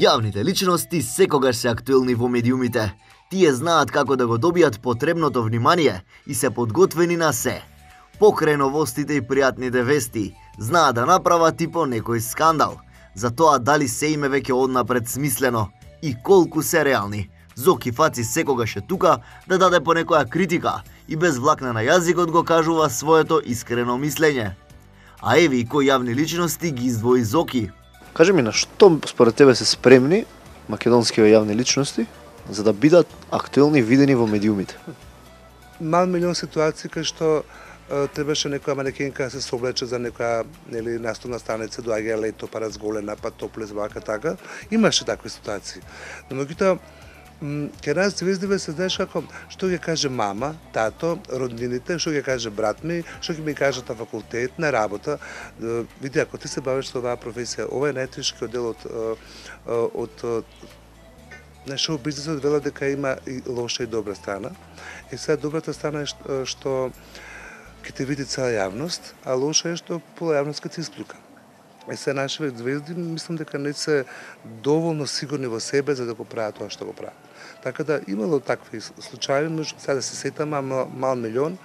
Јавните личности секогаш се актуелни во медиумите. Тие знаат како да го добијат потребното внимание и се подготвени на се. Покрај новостите и пријатните вести, знаат да направат и по некој скандал. За тоа дали се име веќе однапред смислено и колку се реални. Зоки Фаци секогаш е тука да даде по некоја критика и без влакна на јазикот го кажува своето искрено мислење. А еви и кои јавни личности ги издвои Зоки. Кажи ми, на што според тебе се спремни македонските јавни личности за да бидат актуелни и видени во медиумите? Мал милион ситуации кај што требаше некоја манекенка да се соблече за некоја наступна станица, доаѓа лето, па разголена, па топле, вака така. Имаше такви ситуации. Но меѓутоа кај нас звездиве се знаеш како, што ќе каже мама, тато, роднините, што ќе каже брат ми, што ќе ми кажат на факултет, на работа. Види, ако ти се бавиш со оваа професија, ова е најтешкиот дел од на шоу бизнисот, вела дека има и лоша и добра страна. И сега добрата страна е што ќе те види цела јавност, а лоша е што пола јавност ќе се исклука. И се нашите звезди, мислам дека не се доволно сигурни во себе за да го прават тоа што го прават. Така да имало такви случаи, може сега да се сетам, мал милион.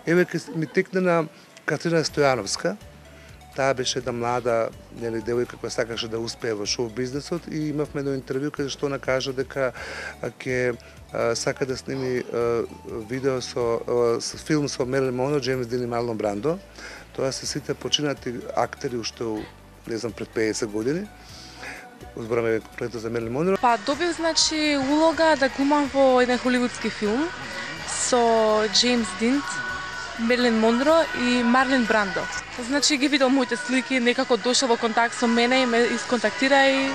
Еве ми текна на Катрина Стојановска. Таа беше една млада девојка која сакаше да успее во шоу бизнисот и имавме едно интервју каде што она кажа дека ќе сака да сними видео филм со Мерлин Монро, Джеймс Дин и Марлон Брандо. Тоа се сите починати актери уште не знам пред 50 години. Збораме конкретно за Мерлин Монро. Па добив значи улога да глумам во еден холивудски филм со Джеймс Дин, Мерлин Монро и Марлин Брандо. Значи ги видел моите слики, некако дошол во контакт со мене и ме исконтактира и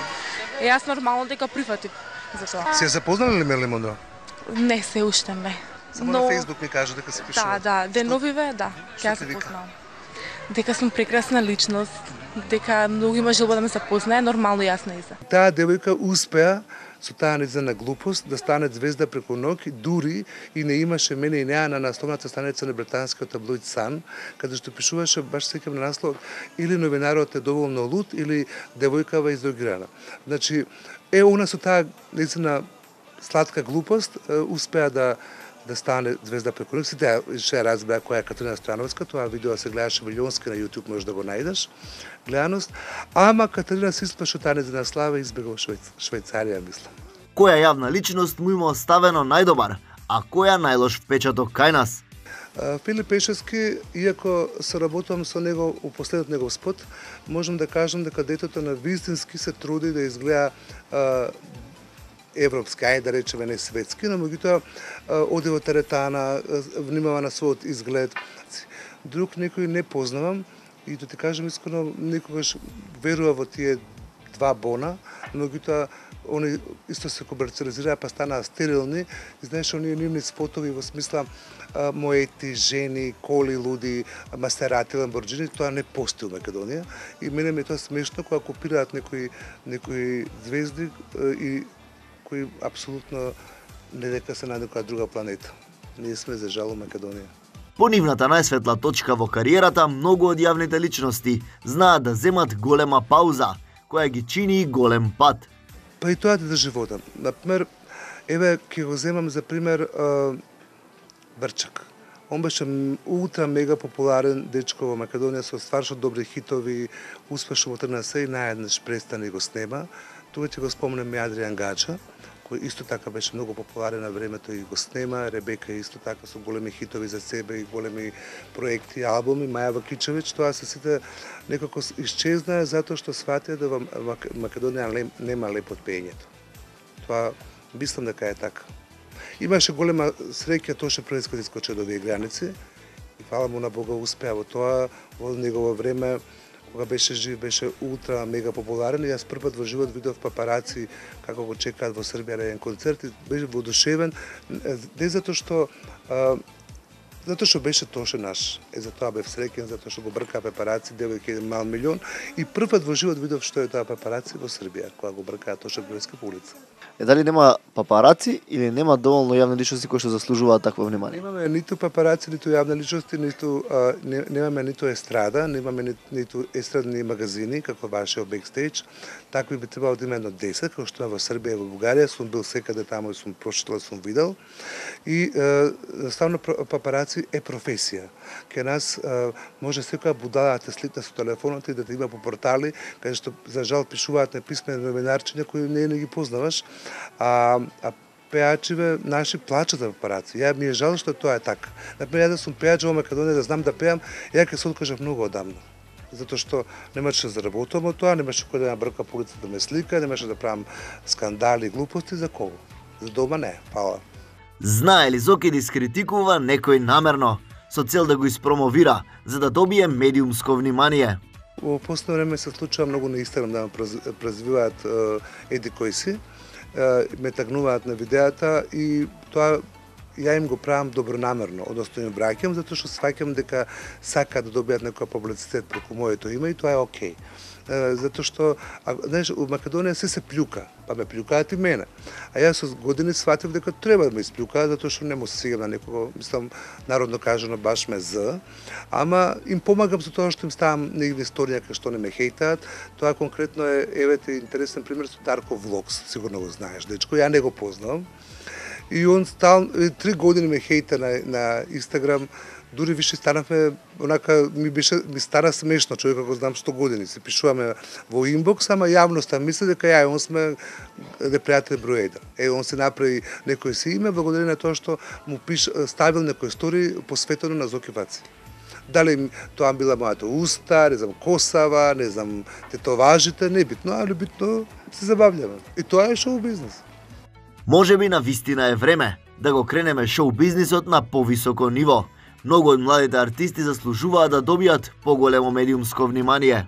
јас нормално дека прифатив за тоа. Се запознали ли Мерлин Монро? Не, се уште не. Само на Facebook ми кажа дека се пишува. Да, деновиве, да, ќе се познавам. Дека сум прекрасна личност, дека многу има желба да ме запознае, нормално јас не иза. Таа девојка успеа со таа нејзина глупост да стане звезда преку ноќ, дури и не имаше мене и неа на насловната страница на британскиот таблоид Sun, каде што пишуваше баш секам на наслов или новинарот е доволно луд или девојкава издрогирана. Значи, она со таа нејзина сладка глупост успеа да стане звезда преку ноќ. Сите ќе разбеа која е Катрина Стојановска, тоа видео се гледаше милионски на YouTube, можеш да го најдеш, гледаност. Ама Катрина се исплаши таа нејзина слава и избега во Швајцарија, мислам. Која јавна личност му има оставено најдобар, а која најлош впечаток кај нас? Филип Пешевски, иако соработувам со него у последниот негов спот, можам да кажам дека детето на вистински се труди да изгледа европски, ајде да речеме не светски, но меѓутоа оди во теретана, внимава на својот изглед. Друг некој не познавам и да ти кажам искрено, некогаш верува во тие два бона, но меѓутоа они исто се комерциализираа па станаа стерилни. И знаеш, оние нивни спотови во смисла моети, жени, коли, луди, Масерати, Ламборджини, тоа не постои во Македонија. И мене ми е тоа смешно кога копираат некои звезди и кои апсолутно не дека се на некоја друга планета. Ние сме за жал Македонија. По нивната најсветла точка во кариерата, многу од јавните личности знаат да земат голема пауза, која ги чини голем пат. Па и тоа да држи вода. Например, еве ќе го земам за пример Брчак. Он беше ултра мега популарен дечко во Македонија со стварно добри хитови, успешно во тргна се и наеднаш престане и го снема. Тука ќе го спомнем и Адриан Гаджа, кој исто така беше многу популарен на времето и го снема, Ребека исто така со големи хитови за себе и големи проекти, албуми, Маја Вакичевиќ, тоа се сите некако исчезнаа затоа што сватија да во Македонија нема леп од пеењето. Тоа мислам дека е така. Имаше голема среќа Тоше Пренскот искочи до овие граници и фала му на Бога успеа во тоа, во негово време кога беше жив, беше ултра мега популарен и јас првпат во живот видов папараци како го чекаат во Србија на еден концерт и беше воодушевен, не затоа што Затоа што беше Тоше наш. Затоа бев среќен, затоа што го бркаа папараци, девојка еден мал милион. И првпат во живот видов што е тоа папараци во Србија, кога го бркаа Тоше Груевски по улица. Дали нема папараци или нема доволно јавни личности кои што заслужуваат такво внимание? Немаме ниту папараци, ниту јавни личности, немаме ниту естрада, немаме ниту естрадни магазини, како вашиот бекстејдж. Такви би требало да има едно 10, како што во Србија и во Бугарија, сум бил секаде таму и сум прочитал, сум видел. И ставно папараци е професија. Ке нас може секоја будала да те слитне со телефонот и да те има по портали, каде што за жал пишуваат неписмени новинарчиња кои не ги познаваш, а пеачиве наши плачат за папараци. Ја ми е жал што тоа е така. Например, ја да сум пеач во Македонија, да знам да пеам, ја ќе се откажав многу одамна. Затоа што немаше да заработувам од тоа, немаше кој да ме брка по улица да ме слика, немаше да правам скандали и глупости, за кого? За дома не, фала. Знае ли Зоки да искритикува некој намерно, со цел да го испромовира, за да добие медиумско внимание? Во последно време се случува многу на Инстаграм да ме презвиваат еди кои си, ме тагнуваат на видеата и тоа ја им го правам добронамерно, односно им враќам затоа што сваќам дека сакаат да добијат некој публицитет преку моето име и тоа е окей. Затоа што, знаеш, у Македонија се плюка, па ме плюкаат и мене. А јас со години сватив дека треба да ме исплюкаат, затоа што не му се сигам на некого, мислам, народно кажано баш ме з, ама им помагам со тоа што им ставам негде историја кај што не ме хейтаат. Тоа конкретно е, евете, интересен пример со Дарко Влогс, сигурно го знаеш, дечко, ја не го познавам. И он 3 години ме хейта на Инстаграм, дури више станавме, онака ми стана смешно, човека го знам 100 години, се пишуваме во инбокс, ама јавноста мисли дека ја он сме непријатели број 1. Он се направи некој си име, благодарение на тоа што му ставил некој стори посветено на Зоки Ваци. Дали тоа била мојата уста, не знам, косава, не знам, тетоважите, не битно, али битно се забавljаме. И тоа е шоу бизнес. Може би на вистина е време да го кренеме шоу бизнисот на повисоко ниво. Многу од младите артисти заслужуваат да добијат поголемо медиумско внимание.